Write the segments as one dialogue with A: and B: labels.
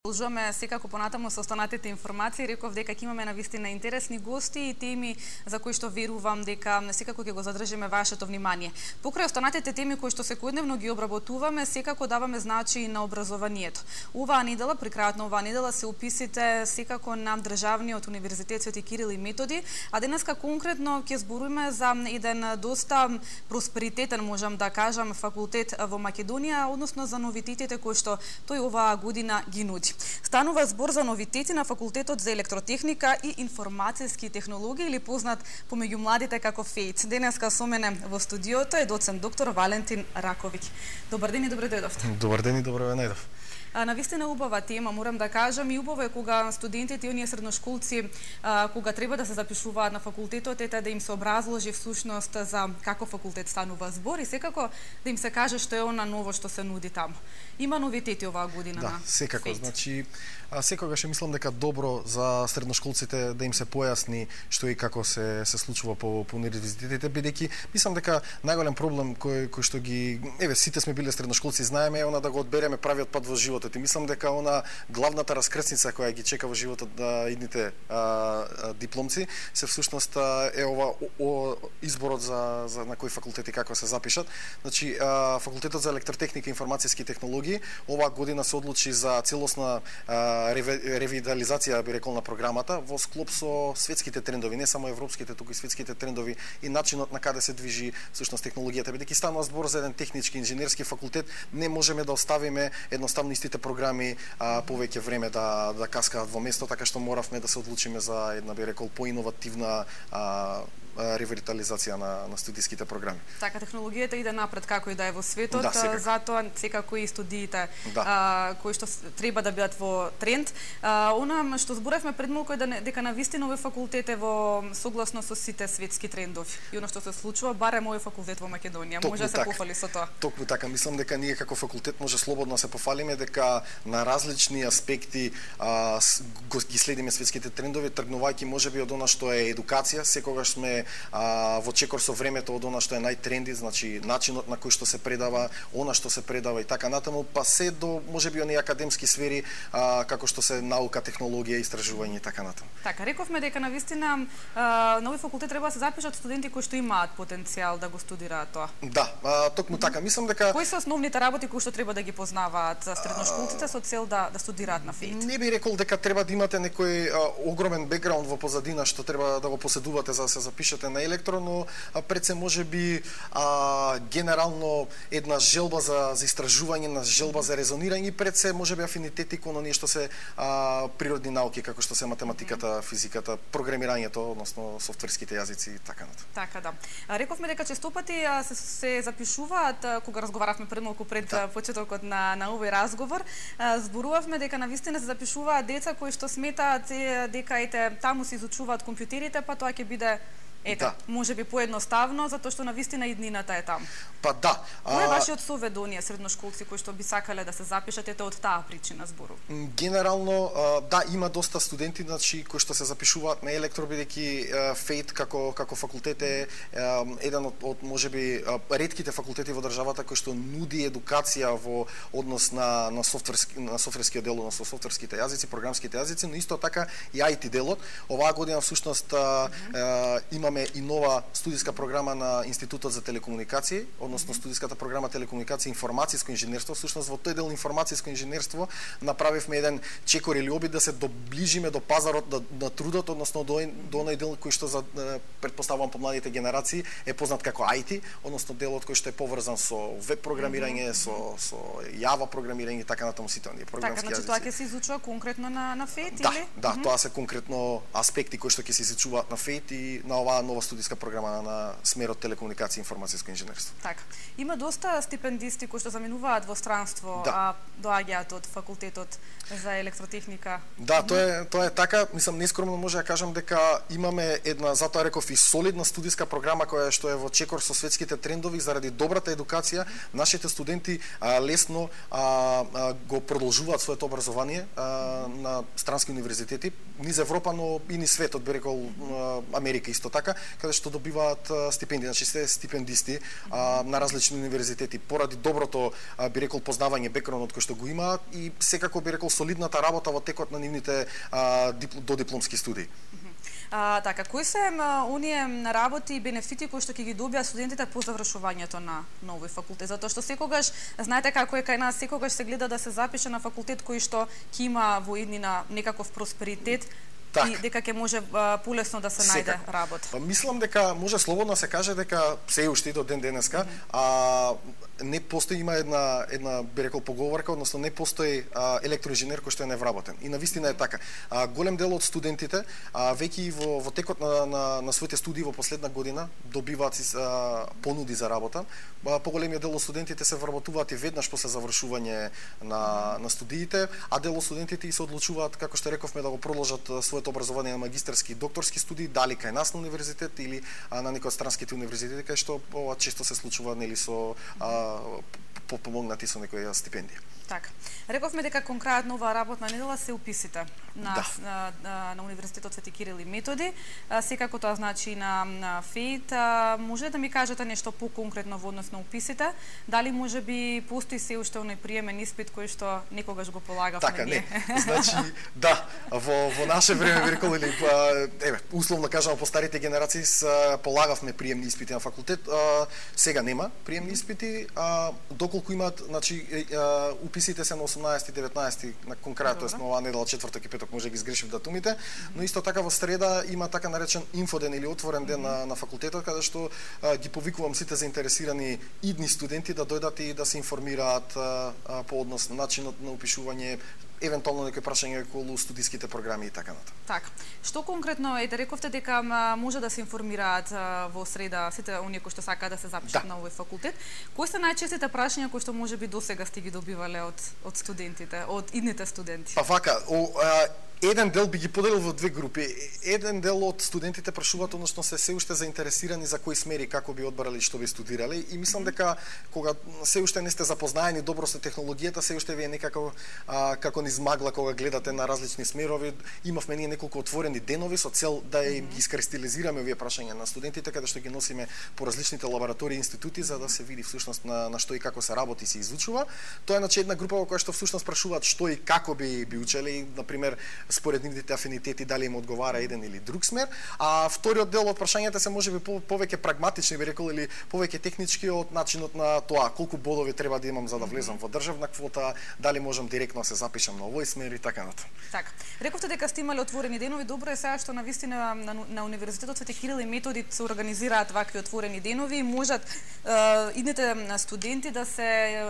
A: Продолжуваме секако понатаму со останатите информации. Реков дека ќе имаме навистина интересни гости и теми за кои што верувам дека секако ќе го задржиме вашето внимание. Покрај останатите теми кои што секојдневно ги обработуваме, секако даваме значај на образованието. Оваа недела, при крајот на оваа недела се уписите секако на Државниот универзитет Свети Кирил и Методи, а денеска конкретно ќе збориме за еден доста просперитетен, можам да кажам, факултет во Македонија, односно за новитетите кои што тој оваа година ги нуди. Станува збор за новитети на Факултетот за електротехника и информацијски технологии, или познат помеѓу младите како ФЕИТ. Денеска со мене во студиото е доцент доктор Валентин Раковиќ. Добар ден и добре дојдовте.
B: Добар ден и добре ве најдов.
A: Навистина убава тема, морам да кажам, и убаво е кога студентите и оние средношколци кога треба да се запишуваат на факултетот, да им се образложи всушност за каков факултет станува збор и секако да им се каже што е она ново што се нуди таму. Има новитети оваа година на
B: секако,
A: ФЕИТ.
B: значи секогаш мислам дека добро за средношколците да им се појасни што и како се случува по универзитетите, бидејќи мислам дека најголем проблем кој што ги сите сме биле средношколци, знаеме, е она да го одбереме правиот пат во животот. И мислам дека она главната раскрсница која ги чека во животот на идните дипломци се всушност е ова изборот за на кој факултет и како се запишат. Значи факултетот за електротехника и информацијски технологии оваа година се одлучи за целосна ревитализација, би рекол, на програмата во склоп со светските трендови, не само европските, туку и светските трендови и начинот на каде се движи всушност технологијата. Бидејќи станува збор за еден технички инженерски факултет, не можеме да оставиме едноставно истите програми повеќе време да каскаат во место, така што моравме да се одлучиме за една, би рекол, поиновативна ревитализација на студиските програми.
A: Така, технологијата иде напред како и да е во светот, затоа секако и студиите кои што треба да бидат во тренд. Она што зборевме пред малку е дека навистина овој факултет е во согласно со сите светски трендови. И она што се случува, барем овој факултет во Македонија може да се пофали со тоа.
B: Токму така, мислам дека ние како факултет може слободно да се пофалиме дека на различни аспекти ги следиме светските трендови, тргнувајќи можеби од она што е едукација, секогаш сме во чекор со времето од она што е најтренди, значи начинот на кој што се предава, она што се предава и така натаму, па се до можеби оние академски сфери како што се наука, технологија, истражување и така натаму.
A: Така, рековме дека навистина на овој факултет треба да се запишат студенти кои што имаат потенцијал да го студираат тоа.
B: Да, токму така, мислам дека
A: кои се основните работи кои што треба да ги познаваат средношколците со цел да студираат на ФЕИТ?
B: Не би рекол дека треба да имате некој огромен бекграунд во позадина што треба да го поседувате за да се запишете на електро, но пред се можеби генерално една желба за истражување, на желба за резонирање, пред се можеби афинитети кон оние што се природни науки, како што се математиката, физиката, програмирањето, односно софтверските јазици и така натаму.
A: Така, да. Рековме дека честопати се запишуваат, кога разговаравме пред малку пред почетокот на овој разговор, зборувавме дека навистина се запишуваат деца кои што сметаат дека таму се изучуваат компјутерите, па тоа ќе биде можеби поедноставно, затоа што навистина иднината е таму.
B: Па да.
A: Кој е вашиот совет до оние средношколци кои што би сакале да се запишат од таа причина збору?
B: Генерално, да, има доста студенти, значи, кои што се запишуваат на електро, бидејќи ФЕИТ како факултет е еден од можеби ретките факултети во државата кој што нуди едукација во однос на софтверскиот дел, односно софтверските јазици, програмските јазици, но исто така и IT делот. Оваа година всушност имаме и нова студиска програма на Институтот за телекомуникации, односно студиската програма телекомуникации и информацијско инженерство. Всушност во тој дел информацијско инженерство направивме еден чекор или обид да се доближиме до пазарот на трудот, односно до оној дел кој што претпоставувам по младите генерации е познат како IT, односно делот кој што е поврзан со веб програмирање, со Java програмирање и така натаму сите оние програмски јазици.
A: Така, значи тоа ќе се изучува конкретно на ФЕИТ или?
B: Да, тоа се конкретно аспекти кои што ќе се изучуваат на ФЕИТ и на оваа нова студиска програма на смерот телекомуникација и информацијско инженерство.
A: Така. Има доста стипендисти кои што заминуваат во странство, доаѓаат од факултетот за електротехника.
B: Да, тоа е така. Мислам, нескромно може да кажам дека имаме една, затоа реков, и солидна студиска програма која што е во чекор со светските трендови. Заради добрата едукација, нашите студенти лесно го продолжуваат своето образование на странски универзитети низ Европа, но и низ светот, би рекол Америка исто така. така, каде што добиваат стипендии, значи се стипендисти на различни универзитети поради доброто, би рекол, познавање бекграундот кој што го имаат и секако би рекол солидната работа во текот на нивните додипломски студии.
A: Така, кои се оние работи и бенефити кои што ќе ги добијат студентите по завршувањето на овој факултет? Затоа што секогаш, знаете како е кај нас, секогаш се гледа да се запише на факултет кој што ќе има во иднина некаков просперитет, и дека ќе може полесно да се најде работа.
B: Мислам дека може слободно се каже дека се уште и до ден денеска, не постои, има една би рекол поговорка, односно не постои електроинженер кој што е невработен. И навистина е така. Голем дел од студентите веќе во текот на своите студии во последна година добиваат понуди за работа. Поголемиот дел од студентите се вработуваат и веднаш после завршување на студиите, а дел од студентите и се одлучуваат, како што рековме, да го продолжат своето образование на магистарски и докторски студии, дали кај нас на универзитет или на некој од странските универзитети, кај што ова често се случува нели со помогнати со некоја стипендија.
A: Така. Рековме дека кон крајот на оваа работна недела се уписите на Универзитетот Свети Кирил и Методи. Секако тоа значи на ФЕИТ. Може да ми кажете нешто поконкретно во однос на уписите? Дали може би постои се уште оној приемен испит кој што некогаш го полагавме?
B: Така, не. Значи, да, во наше време, би рекол, или условно кажано по старите генерации полагавме приемни испити на факултет. Сега нема приемни испити, доколку имаат, значи, уписите се на 18 и 19 на кон крајот, тоест на оваа недела, четврток и петок, може ги сгрешив датумите, но исто така во среда има така наречен инфоден или отворен ден на факултетот, каде што ги повикувам сите заинтересирани идни студенти да дојдат и да се информираат по однос на начинот на упишување, евентуално некои прашања околу студиските програми и така натаму.
A: Така. Што конкретно рековте дека може да се информираат во среда сите оние кои што сакаат да се запишат на овој факултет? Кои се најчестите прашања кои што можеби досега сте ги добивале од студентите, од идните студенти?
B: Па вака, еден дел би ги поделил во две групи. Еден дел од студентите прашуваат, односно се уште заинтересирани за кои смери, како би одбрали, што би студирале, и мислам дека кога се уште не сте запознаени добро со технологијата, се уште ви е некако како низ магла кога гледате на различни смерови. Имавме ние неколку отворени денови со цел да ги искристализираме овие прашања на студентите, каде што ги носиме по различните лаборатории и институти за да се види всушност на што и како се работи и се изучува. Тоа е значи една група во која што всушност прашуваат што и како би учеле, на пример според нивните афинитети дали им одговара еден или друг смер, а вториот дел од прашањата се можеби повеќе прагматични, би рекол, или повеќе технички од начинот на тоа колку бодови треба да имам за да влезам во државна квота, дали можам директно да се запишам на овој смер и така натаму.
A: Така. Рековте дека сте имале отворени денови, добро е сега што навистина на Универзитетот Свети Кирил и Методи се организираат вакви отворени денови и можат идните студенти да се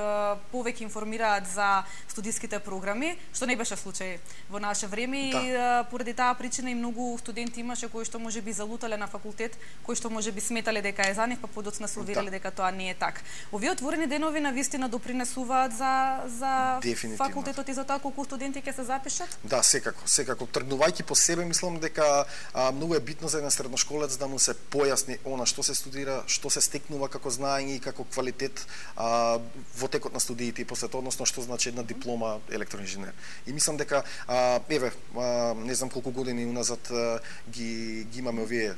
A: повеќе информираат за студиските програми, што не беше случај во наше време. И поради таа причина и многу студенти имаше кои што можеби залутале на факултет, кои што можеби сметале дека е за нив, па подоцна се увериле дека тоа не е така. Овие отворени денови навистина допринесуваат за факултетот и за тоа колку студенти ќе се запишат?
B: Да, секако. Тргнувајќи по себе, мислам дека многу е битно за еден средношколец да му се појасни она што се студира, што се стекнува како знаење и како квалитет во текот на студиите и после тоа, односно што значи една диплома електроинженер. И мислам дека не знам колку години уназад ги имаме овие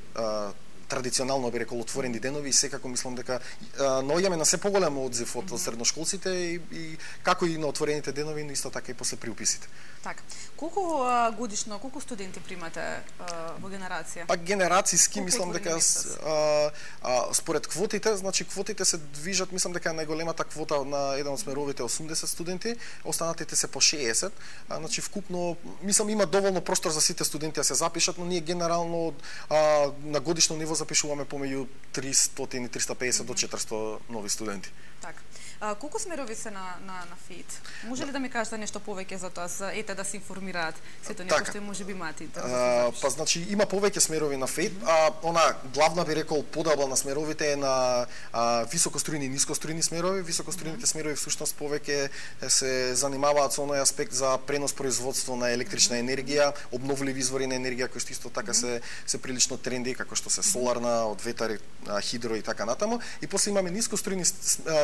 B: традиционално би рекол отворени денови и секако мислам дека наоѓаме на се поголем одзив од средношколците и како и на отворените денови, но исто така и после приуписите.
A: Така. Колку годишно, колку студенти примате во генерација?
B: Па генерацијски мислам дека според квотите, значи квотите се движат, мислам дека најголемата квота на еден од смеровите 80 студенти, останатите се по 60. Значи вкупно мислам има доволно простор за сите студенти да се запишат, но ние генерално на годишно ниво запишуваме помеѓу 300 и 350 до 400 нови студенти.
A: Така. Колку смерови се на ФЕИТ? Може ли да ми кажете нешто повеќе за тоа, ете да се информираат сите некои што можеби имаат интерес?
B: Па значи има повеќе смерови на ФЕИТ, она главна би рекол поделба на смеровите е на високострујни и нискострујни смерови. Високострујните смерови всушност повеќе се занимаваат со оној аспект за пренос производство на електрична енергија, обновливи извори на енергија кои што исто така се прилично тренди, како што се соларни соларна, од ветар, хидро и така натаму, и после имаме нискострујни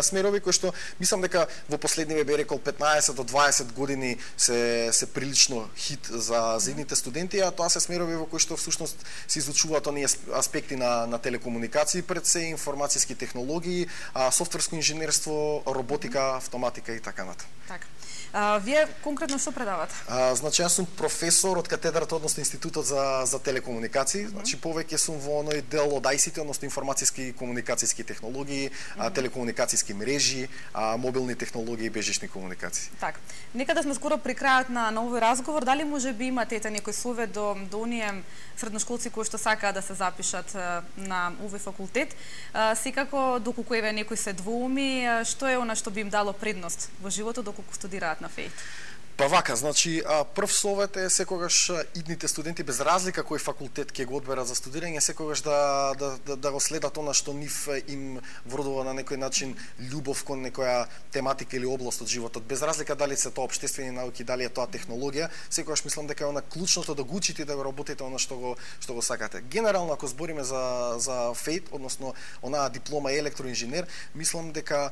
B: смерови кои што мислам дека во последниве би рекол 15 до 20 години се прилично хит за едните студенти, а тоа се смерови во кои што всушност се изучуваат оние аспекти на телекомуникации, пред се информацијски технологии, софтверско инженерство, роботика, автоматика и така натаму.
A: Така. Вие конкретно што предавате?
B: Значи јас сум професор од катедрата, односно Институтот за телекомуникации. Значи повеќе сум во оној дел од ICT, односно информацијски и комуникацијски технологии, телекомуникацијски мрежи, мобилни технологии и бежични комуникации.
A: Така. Некаде сме скоро при крајот на овој разговор. Дали може би имате некој совет до оние средношколци кои што сакаат да се запишат на овој факултет? Секако доколку еве некој се двоуми, што е она што би им дало предност во животот доколку студираат на ФЕИТ?
B: Па вака, значи, прв совет е секогаш идните студенти, без разлика кој факултет ќе го одберат за студирање, секогаш да го следат она што нив им вродува на некој начин љубов кон некоја тематика или област од животот. Без разлика дали се тоа општествени науки, дали е тоа технологија, секогаш мислам дека е она клучното да го учите да го работите она што го сакате. Генерално ако збориме за ФЕИТ, односно онаа диплома електроинженер, мислам дека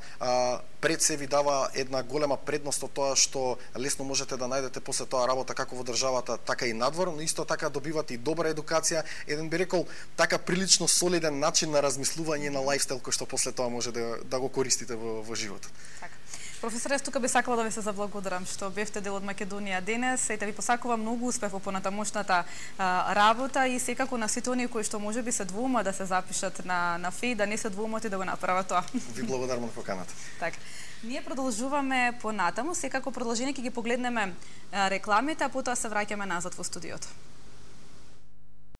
B: пред се ви дава една голема предност од тоа што лесно можете да најдете после тоа работа како во државата, така и надвор, но исто така добивате и добра едукација, еден би рекол така прилично солиден начин на размислување на лајфстайл кој што после тоа може да го користите во животот.
A: Така. Професоре, тука би сакала да ви се заблагодарам што бевте дел од Македонија денес и да ви посакувам многу успех во понатамошната работа и секако на сите оние кои што можеби се двоумат да се запишат на ФЕИТ, да не се двоумат и да го направат тоа.
B: Ви благодарам на поканата.
A: Така. Ние продолжуваме понатаму, секако продолжение ќе ги погледнеме рекламите, а потоа се враќаме назад во студиото.